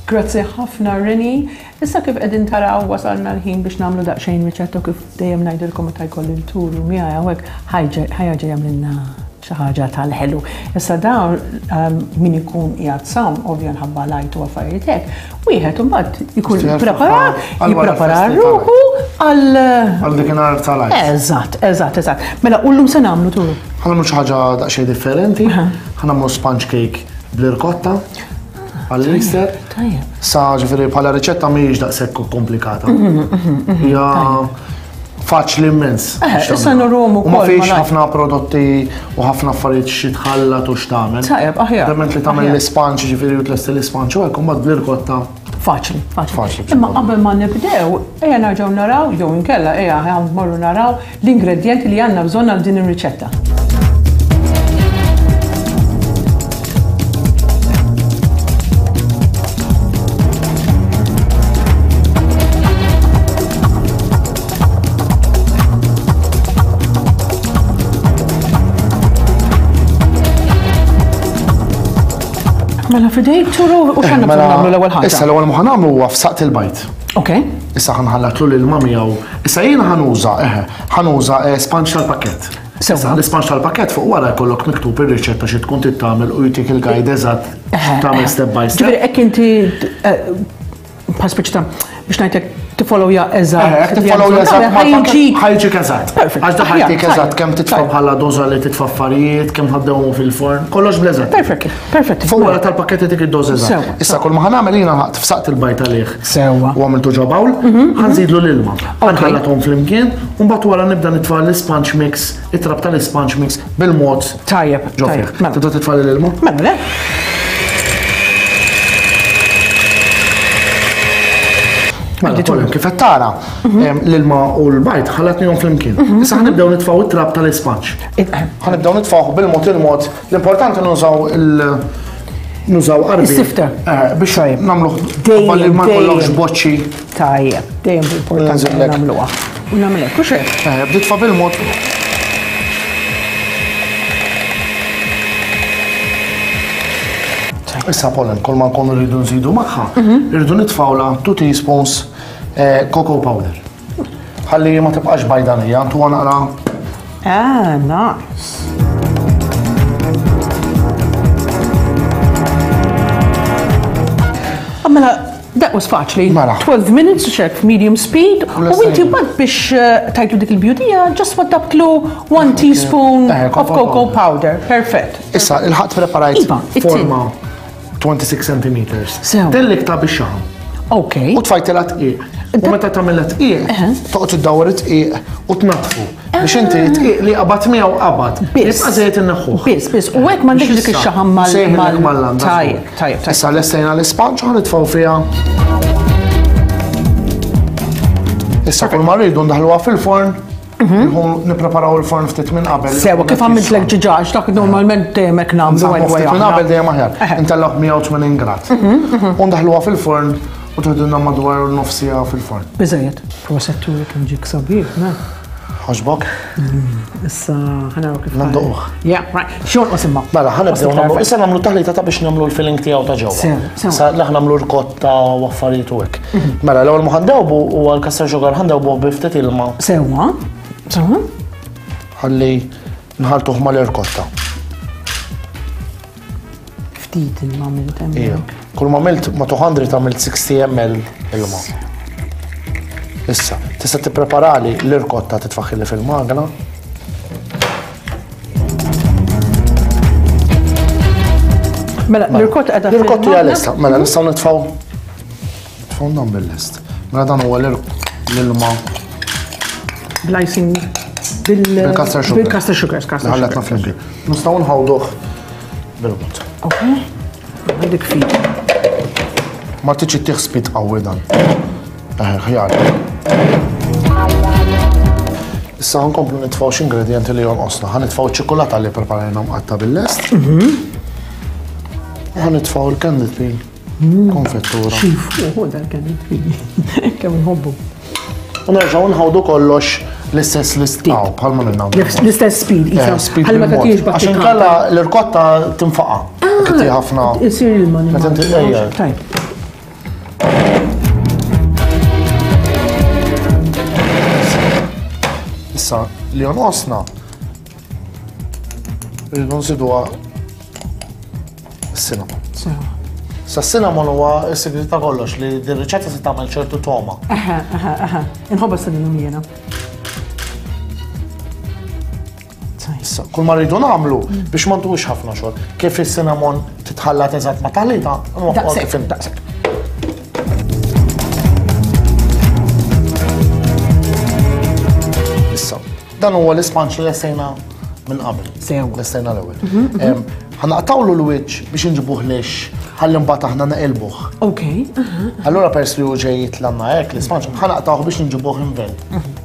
Grazzi ħafna Rennie. Issa kif qegħdin taraw wasalna l-ħin biex nagħmlu daqsxejn riċetta u kif dejjem ngħidilkom meta jkolli l-turu miegħi hawnhekk ħa jerġa' jagħmlilna xi ħaġa tal-ħelu. Issa dawn ehm, min ikun qiegħed sawm ovvja nħabba lajt u affarijiet hekk, wieħed imbagħad ikun preparat, jipprepara ruħu għal għal dikinhar tal-għid. Eżatt, eżatt, eżatt. Mela u llum se nagħmlu turu. Ħa nagħmlu xi ħaġa daqsxejn differenti, ħa nagħmlu sponge cake bl-irkotta għall-Easter. Tajjeb. Sa ġifieri bħala riċetta mhijiex daqshekk komplikata. Mhm, mhm, mhm, Hija faċli immens. Eh, issa nurhom ukoll. Ma fiex ħafna prodotti u ħafna affarijiet xi tħallat u x'tagħmel. Tajjeb, aħjar. Dement li tagħmel l-ispanċ ġifieri u tlesti l-ispanċ u hekk imbagħad bl-irkotta. Faċli, faċli. Imma qabel ma nibdew, ejja nerġgħu naraw jew inkella ejja mmorru naraw l-ingredjenti li għandna bżonn għal din ir-riċetta. Mela fidejk turu u x'għandna bżonn nagħmlu l-ewwel ħaġa. Issa l-ewwel ma nagħmlu huwa f'saqt il-bajt. Ok. Issa ħanħallatlu l-ilma miegħu. Issa jiena ħanuża, eħe, ħanuża eh, sponge tal-pakkett. Issa l-isponge tal-pakkett fuq wara jkollok miktub ir-riċetta xi tkun trid tagħmel u jtik il-guide eżatt tagħmel step by step. Ġifieri hekk inti eh, bħal speċi ta' biex ngħidlek tifollowja eżatt. Eh, tifollowja eżatt ħajġik. Ħajġik eżatt. Perfect. Għax ħajtik eżatt kemm titfa' bħala doża li titfa' affarijiet, kemm ħaddewhom fil-forn, kollox bl-eżatt. Perfect, perfect. Fuq wara tal-pakketti dik id-doża eżatt. Issa kull ma ħanagħmel jiena ħadd f'saqt il-bajt għalih. Sewwa. U għamiltu ġo bawl, mhm, mhm. ħanżidlu l-ilma. Ħanħallathom flimkien, u mbagħad wara nibda nitfa' l-isponge mix, it-trab tal-isponge mix bil-mod. Tajjeb, ġo fih. Mela. Tibda titfa' l-ilma? Mela, le. Mela, Colin, kif qed tara, mhm. l-ilma u l-bajd ħallatnihom flimkien. Mhm. Issa ħanibdew nitfgħu it-trab tal-isponge. Eh. Ħanibdew nitfgħu bil-mod il-mod. L-importanti nużaw il- nużaw qarbi. Sifter. Eh, biex nagħmluh dejjem ma jkollokx boċċi. Tajjeb, dejjem importanti nagħmluha. U nagħmlek, u xejn. Eh, bdiet bil-mod. Issa pollen, kull ma nkunu rridu nżidu magħha, mhm. rridu nitfawla 2 teaspoons eh, cocoa powder. Ħalli ma tibqax bajdanija, ntuha naqra. Ah, nice. Ah, mela, that was faċli. Mela. 12 minutes, check medium speed. U inti bad biex eh, tajtu dik il-bjudija, just waddabtlu 1 teaspoon Eh, of cocoa powder. Perfect. Issa, il-ħadd preparajt Iva, it-tin. forma 26 centimeters. Sew. Tellik ta' biex xaħam. Ok. U tfajtilha tqiq. U meta tagħmilha tqiq, toqgħod iddawwar it-tqiq u tnaddfu. Biex inti tqiq li qabad miegħu qabad. Biss. Jibqa' żejjed inneħħuh. Biss, biss. U hekk m'għandekx dik ix-xaħam mal- mal mal-landa. Tajjeb, tajjeb, tajjeb. Issa lestejna l-ispanċ u ħanitfgħu fiha. Issa kull ma rridu ndaħluha fil-forn, mhm. nippreparaw il-forn ftit minn qabel. Sewa, kif għamiltlek ġiġa, għax dak normalment dejjem hekk nagħmlu anyway. Ftit minn qabel dejjem aħjar. Intellgħu 180 grad. Mhm, mhm. U ndaħluha fil-forn u tħedilna madwar nofsija fil-forn. Biżejjed. Proset turi kemm ġik sabiħ, me. Ħoġbok? Mm, issa ħanaraw kif. Nanduq. Yeah, right. Xogħol qos imma. Mela, ħanibdew nagħmlu. Issa nagħmlu taħlita ta' biex nagħmlu l-filling tiegħu ta' ġewwa. Issa laħ nagħmlu rkotta u affarijiet u hekk. Mhm. Mela, l-ewwel ma ħandewbu huwa l-kasser sugar ħandewbu bi ftit ilma. Sewwa. Sewwa. Ħalli nħaltuh mal-irkotta. Ftit ilma għamilt hemmhekk. Kull ma għamilt ma 200 għamilt 60 ml ilma. Issa, tista' tippreparali l-irkotta titfaħħili fil-magna. Mela, l-irkotta qiegħda. L-irkotta hija lesta, mela nistgħu nitfgħu nitfgħu nam bil-lest. Mela dan huwa l-ilma. Bl-icing bil-caster sugar. Bil-caster sugar, caster sugar. Ħallatna flimkien. Nistgħu nħawduh bil-mod. Ok. Għandek ftit. Ma tiġi tieħ spit qawwi dan. Eh, ħjar. Issa ħankomplu nitfgħu xi ingredienti li jonqosna. Ħa nitfgħu ċ-ċikolata li preparajna mqatta bil-lest. Mhm. Ħa nitfgħu l-candy peel. Mm. Konfettura. Xifu, dal-candy peel. Kemm nħobbu. U nerġgħu nħawdu kollox l-istess l-istaw bħalma minna. L-istess speed, eh, speed Bħalma ta' tiex Għax inkella l-irkotta tinfaqa. Ah, Kitti ħafna. Isir il-mani. Meta inti Tajb. Issa li jonqosna rridu nżiduha cinnamon. Sa cinnamon huwa s-sigriet ta' kollox li din riċetta se tagħmel ċertu toma. Aha, aha, aha. Inħobba cinnamon jiena. Issa, kull ma rridu nagħmlu biex ma ntuwix ħafna xogħol. Kif is-cinnamon titħallat eżatt ma' taħlita, Daqshekk, daqshekk. Issa, dan huwa l-ispanċ li lestejna minn qabel. Sew. Lestejna l-ewwel. Mhm, mhm. Ħanaqtawlu l-wiċċ biex inġibuh lix ħalli mbagħad aħna neqilbuh. Ok. Allura pers li hu ġej jitlanna hekk l-ispanċ, ħanaqtawh biex inġibuh invent. Mhm.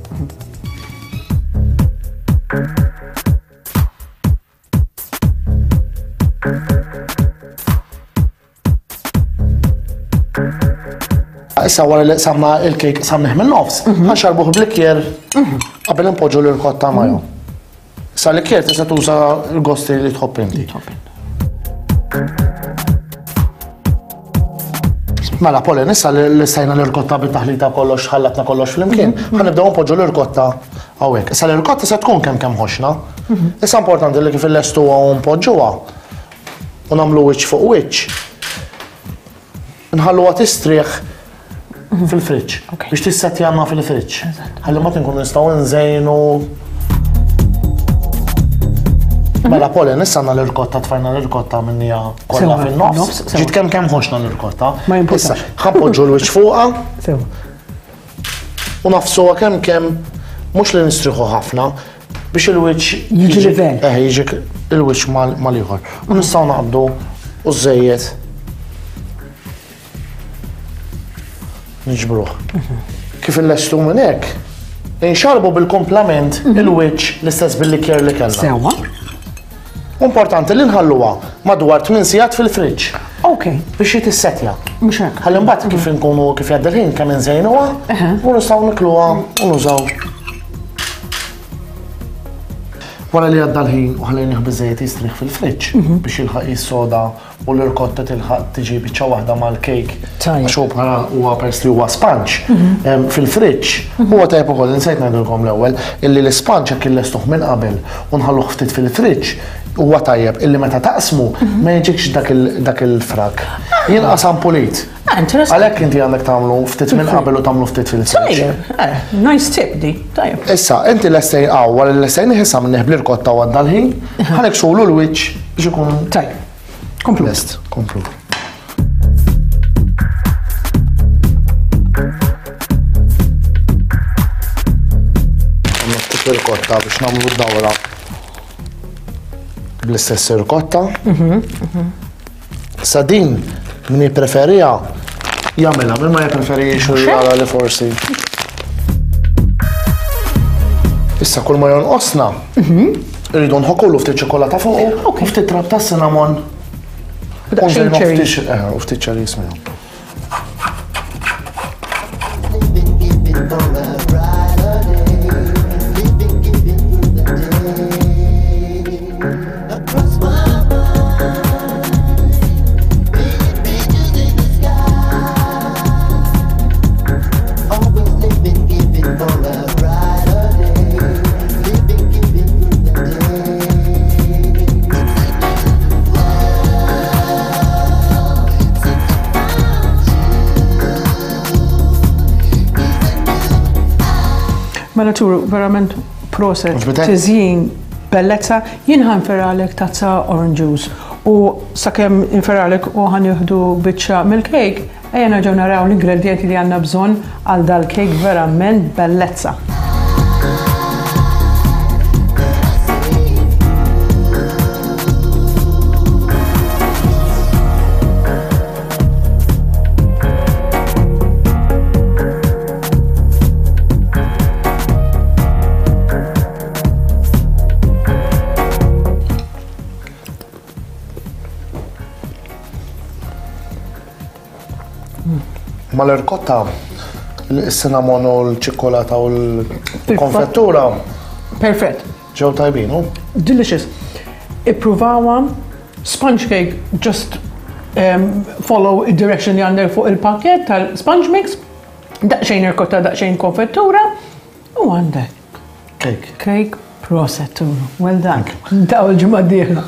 Issa wara li samna il-kejk samniħ minn nofs, mhm. ħanxarbuh bl-ikjer mhm. qabel npoġġu l-irkotta majo. Sa l-ikjer tista' tuża l-gosti li tħobb inti. Mela, Polin, issa li stajna l-irkotta bit-taħlita kollox, ħallatna kollox flimkien, mhm. ħanibdew npoġġu l-irkotta hawnhekk. Issa l-irkotta se tkun kemm kemm ħoxna. Mhm. Issa importanti li kif illestuha u npoġġuha u nagħmlu wiċċ fuq wiċċ. Nħalluha tistrieħ mhm. fil-friġġ biex tissettjanna fil-friġġ. Ħalli ma tinkun nistgħu nżejnu Mela Polin, issa għandna l-irkotta tfajna l-irkotta minnija kollha fin-nofs. Ġiet kemm kemm ħoxna l-irkotta. Ma jimpurtax. Ħanpoġġu l-wiċċ fuqha. U nafsuha kemm kemm mhux li nistriħu ħafna biex il-wiċċ jiġi livell. Eh, jiġi il-wiċċ mal-ieħor. U nistgħu naqbdu u żejjed Niġbruh. Kif illestu minn hekk, inxarbu bil-komplament mhm. il-wiċċ l-istess bil-likjer li kellna. Sewa. Importanti li nħalluha madwar 8 sigħat fil-friġġ. Ok. Biex jitissetja. Mhux hekk. Ħalli mbagħad kif inkunu kif jgħaddi l-ħin kemm inżejnuha u nistgħu nikluha u nużaw. Wara li għadda l-ħin u ħallejnih biżejjed jistrieħ fil-friġġ mhm. biex jilħaq jissoda u l-irkotta tilħaq tiġi biċċa waħda mal-kejk. Għax hu bħala huwa peress li huwa sponge mhm. fil-friġġ. Mhm. Huwa tajjeb ukoll insejt ngħidilkom l-ewwel illi l-isponge jekk illestuh minn qabel u nħalluh ftit fil-friġġ huwa tajjeb illi meta taqsmu mhm. ma jiġikx dak il-frak. Ah. Jinqasam pulit. Ah, Għalhekk inti għandek tagħmlu ftit minn qabel u tagħmlu ftit fil-friġġ. Eh, nice tip di, tajjeb. Issa, inti lestejn għaw, wara l-lestejn ħisam neħbli l-kotta u għadda l-ħin, ħanek sulu l-wiċċ biex ikun. Tajjeb. Komplu. Lest, komplu. Għamlu ftit irkotta biex nagħmlu dawra bl-istess irkotta. Mhm, mhm. Sa din min jippreferija jagħmilha, min ma jippreferix u jara li forsi. Issa kull ma jonqosna, mhm. irridu nħokulu ftit ċokolata fuq u ftit trab ta' cinnamon. Eh, u ftit cherries miegħu. Mela turu, verament proset, tiżjin bellezza, jien ħanferalek tazza orange juice u sakemm inferalek u ħanieħdu biċċa mill-kejk, Ejja nerġgħu naraw l-ingredjenti li għandna bżonn għal dal-kejk verament bellezza. Mal-irkotta, il-cinnamon u l-ċikkolata u l-konfettura. Perfett. Ġew tajbin, u? Delicious. Ippruvawa, sponge cake, just um, follow direction li għandek fuq il-pakket tal-sponge mix, daqxejn irkotta, daqxejn konfettura, u għandek. Cake. Cake, proset, well done. Daw il-ġimgħa d-dieħla.